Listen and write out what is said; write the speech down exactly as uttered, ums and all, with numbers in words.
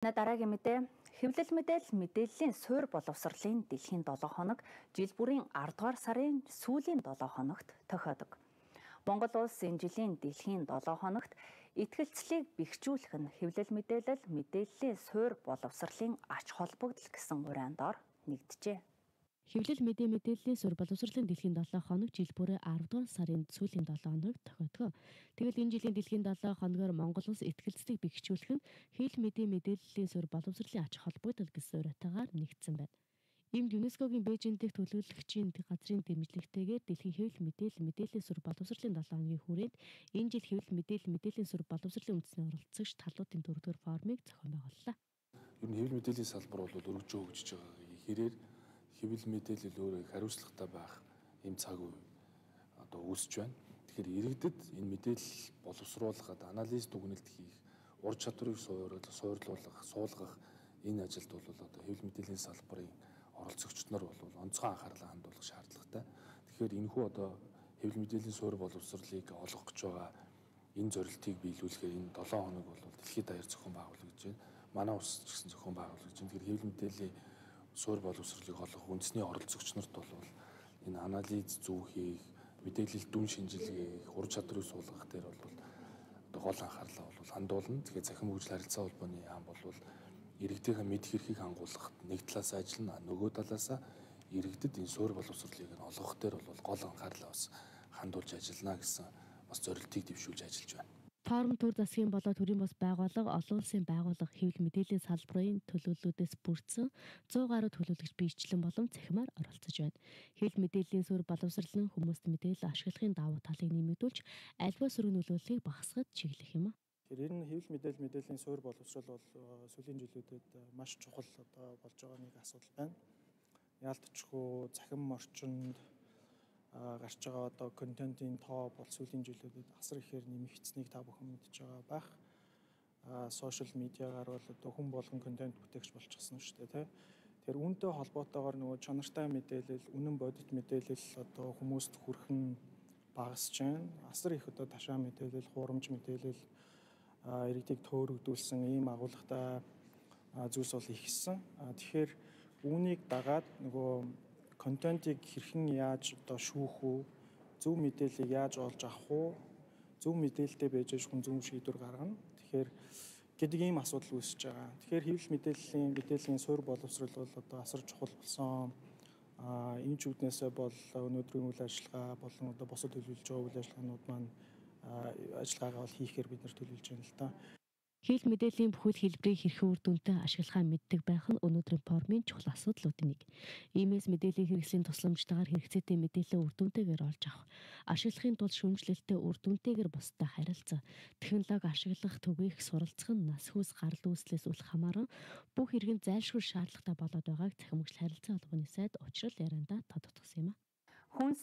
На дараагийн мэдээ хэвлэл мэдээлэл мэдээллийн суурь боловсролын дэлхийн долоо хоног жил бүрийн ардугаар дугаар сарын сүүлийн долоо хоногт тохиодог. Монгол улс энэ жилийн дэлхийн долоо хоногт итгэлцлийг бэхжүүлэх нь хэвлэл мэдээлэл мэдээллийн суурь боловсролын ач холбогдол гэсэн урайндор нэгджээ. Хэвлэл мэдээ мэдээллийн суурь боловсролын дэлхийн долоо хоног жил бүрээ арав дугаар сарын сүүлийн долоо хоног тохиодог. Тэгвэл энэ жилийн дэлхийн долоо хоногоор Монгол улс итгэлцлийг бэхжүүлэх нь хэвлэл мэдээ мэдээллийн суурь боловсролын ач холбогдол гэсэн уриатаагаар нэгдсэн байна. Иймд ЮНЕСКОгийн Бээжин дэх төлөөлөгчийн газрын дэмжлэгтэйгээр дэлхийн хэвлэл мэдээлэл мэдээллийн суурь боловсролын долоо хоногийн хүрээнд энэ жил хэвлэл мэдээлэл мэдээллийн суурь боловсролын үндэсний оролцогч талуудын дөрөвдүгээр форумыг зохион байгууллаа. Ер нь хэвлэл мэдээллийн салбар бол өргөжөө хөгжиж байгаа. Хэрээр хэвлэл мэдээлэл өөрөө их хариуцлагатай байх юм цаг үе одоо үүсэж байна. Тэгэхээр иргэдэд энэ мэдээлэл боловсруулахад анализ дүгнэлт хийх, ур чадварыг суурлуулах, суулгах энэ ажилд бол одоо хэвлэл мэдээллийн салбарын оролцогчид нар бол онцгой анхаарлаа хандуулах шаардлагатай. Тэгэхээр энэхүү одоо хэвлэл мэдээллийн суурь боловсролыг олгох гэж байгаа энэ зорилтыг биелүүлэхээр энэ долоо хоног бол дэлхийд даяар зохион байгуулагдаж байна. Манай улс ч гэсэн зохион байгуулагдаж байна. Тэгэхээр хэвлэл мэдээллийн суурь боловсролыг олгох үндэсний оролцогч нарт бол энэ анализ зөв хийх, мэдээлэл дүн шинжилгээх, ур чадрыг суулгах дээр бол одоо гол анхаарлаа бол хандуулна. Тэгэхээр захин хөгжил харилцаа холбооны яам бол иргэдийн мэдх эрхийг хангуулахад нэг талаас ажиллана, нөгөө талаас иргэдэд энэ суурь боловсролыг нь олгох дээр бол гол анхаарлаа бас хандуулж ажиллана гэсэн бас зорилтыг дэвшүүлж ажиллаж байна. Форум төр засгийн болоод төрийн бас байгууллага, олон улсын байгууллага хэвлэл мэдээллийн салбарын төлөөллүүдээс бүрдсэн зуун гаруй төлөөлөгч биечлэн болон цахимаар оролцож байна. Хэвлэл мэдээллийн суурь боловсрол нь хүмүүст мэдээлэл ашиглахын давуу талыг нэмэгдүүлж альва сөрөг нөлөөллийг багасгахад чиглэх юм а. Тэгэхээр энэ хэвлэл мэдээлэл мэдээллийн суурь боловсрол бол сүүлийн жилүүдэд маш чухал одоо болж байгаа нэг асуудал байна. Яалтчгүй захин орчинд гарч байгаа одоо контентын тоо бол сүүлийн жилүүдэд асар ихээр нэмэгдсэнийг та бүхэн мэдж байгаа байх. Сошиал медиагаар бол одоо хүн болгон контент бүтээгч болчихсон шүү дээ, тийм. Тэгэхээр үүнтэй холбоотойгоор нөгөө чанартай мэдээлэл, үнэн бодит мэдээлэл одоо хүмүүст хүрхэн багасж байна. Асар их одоо ташаа мэдээлэл, хуурамч мэдээлэл иргэдийг төөрөгдүүлсэн ийм агуулгатай зүйлс бол ихссэн. Тэгэхээр үүнийг дагаад нөгөө контентыг хэрхэн яаж одоо шүүх үү, зөв мэдээллийг яаж олж авах уу, зөв мэдээлэлтэй байж хүн зөв шийдвэр гаргана. Тэгэхээр гэдэг ийм асуудал үүсэж байгаа. Тэгэхээр хэвлэл мэдээллийн мэдээллийн суурь боловсрол бол одоо асар чухал болсон. А энэ ч үднээсээ бол өнөөдрийн үйл ажиллагаа болон одоо босод төлөвлөж байгаа үйл ажиллагаанууд маань ажиллагаагаа бол хийхээр бид нар төлөвлөж байна л да. Хэвлэл мэдээллийн бүхэл хэлбэрийг хэрхэн үр дүнтэй ашиглахаа мэддэг байх нь өнөөдрийн форумын чухал асуудлуудын нэг. Иймээс мэдээллийн хэрэгслийн тусламжтайгаар хэрэгцээтэй мэдээлэл үр дүнтэйгээр олж авах, ашиглахын тулд шүүмжлэлтэй үр дүнтэйгээр бусдад харилцах, технологи ашиглах, түгээх, суралцах нь нас хүс гарал үүслээс үл хамааран бүх иргэн зайлшгүй шаардлагатай болоод байгааг захин хөгжил харилцаа холбооны сайд Учрал яриандаа тодотгосон юм а. Хүн